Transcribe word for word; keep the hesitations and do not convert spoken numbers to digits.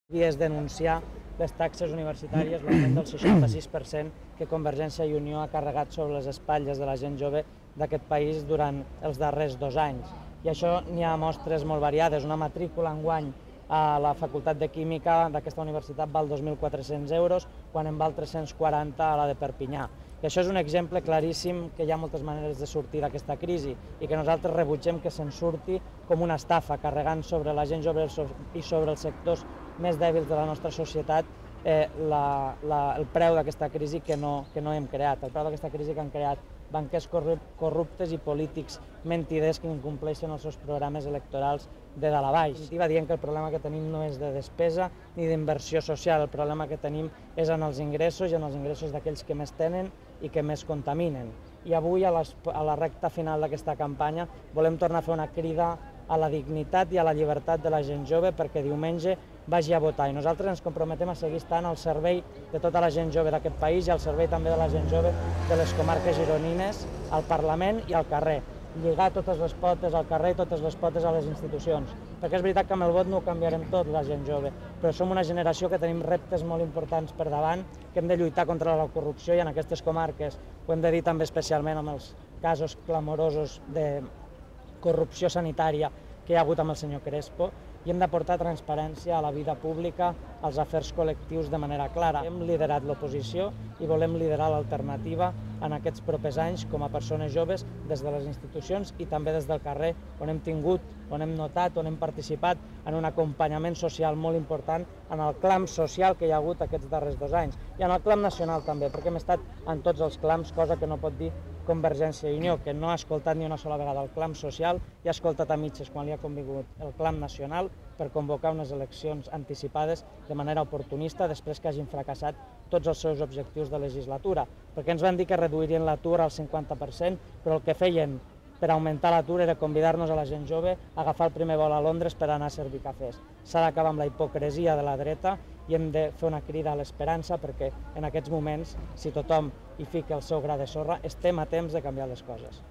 I és denunciar les taxes universitàries, l'augment del seixanta-sis per cent que Convergència i Unió ha carregat sobre les espatlles de la gent jove d'aquest país durant els darrers dos anys. I això n'hi ha mostres molt variades. Una matrícula enguany a la Facultat de Química d'aquesta universitat val dos mil quatre-cents euros, quan en val tres-cents quaranta a la de Perpinyà. I això és un exemple claríssim que hi ha moltes maneres de sortir d'aquesta crisi i que nosaltres rebutgem que se'n surti com una estafa, carregant sobre la gent jove i sobre els sectors més dèbils de la nostra societat eh, la, la, el preu d'aquesta crisi que no, que no hem creat, el preu d'aquesta crisi que han creat banquers corruptes i polítics mentiders que incompleixen els seus programes electorals de dalt a baix. Va dient que el problema que tenim no és de despesa ni d'inversió social, el problema que tenim és en els ingressos i en els ingressos d'aquells que més tenen i que més contaminen. I avui, a, les, a la recta final d'aquesta campanya, volem tornar a fer una crida a la dignitat i a la llibertat de la gent jove perquè diumenge vagi a votar. I nosaltres ens comprometem a seguir estant al servei de tota la gent jove d'aquest país i al servei també de la gent jove de les comarques gironines, al Parlament i al carrer. Lligar totes les potes al carrer i totes les potes a les institucions. Perquè és veritat que amb el vot no ho canviarem tot, la gent jove, però som una generació que tenim reptes molt importants per davant, que hem de lluitar contra la corrupció i en aquestes comarques ho hem de dir també especialment amb els casos clamorosos de corrupció sanitària que hi ha hagut amb el senyor Crespo, i hem d'aportar transparència a la vida pública, als afers col·lectius de manera clara. Hem liderat l'oposició i volem liderar l'alternativa en aquests propers anys com a persones joves des de les institucions i també des del carrer, on hem tingut, on hem notat, on hem participat en un acompanyament social molt important en el clam social que hi ha hagut aquests darrers dos anys i en el clam nacional també, perquè hem estat en tots els clams, cosa que no pot dir Convergència i Unió, que no ha escoltat ni una sola vegada el clam social i ha escoltat a mitges quan li ha convingut el clam nacional per convocar unes eleccions anticipades de manera oportunista després que hagin fracassat tots els seus objectius de legislatura, perquè ens van dir que reduirien l'atur al cinquanta per cent, però el que feien per augmentar l'atur era convidar-nos a la gent jove a agafar el primer vol a Londres per anar a servir cafès. S'ha d'acabar amb la hipocresia de la dreta i hem de fer una crida a l'esperança perquè en aquests moments, si tothom hi fica el seu gra de sorra, estem a temps de canviar les coses.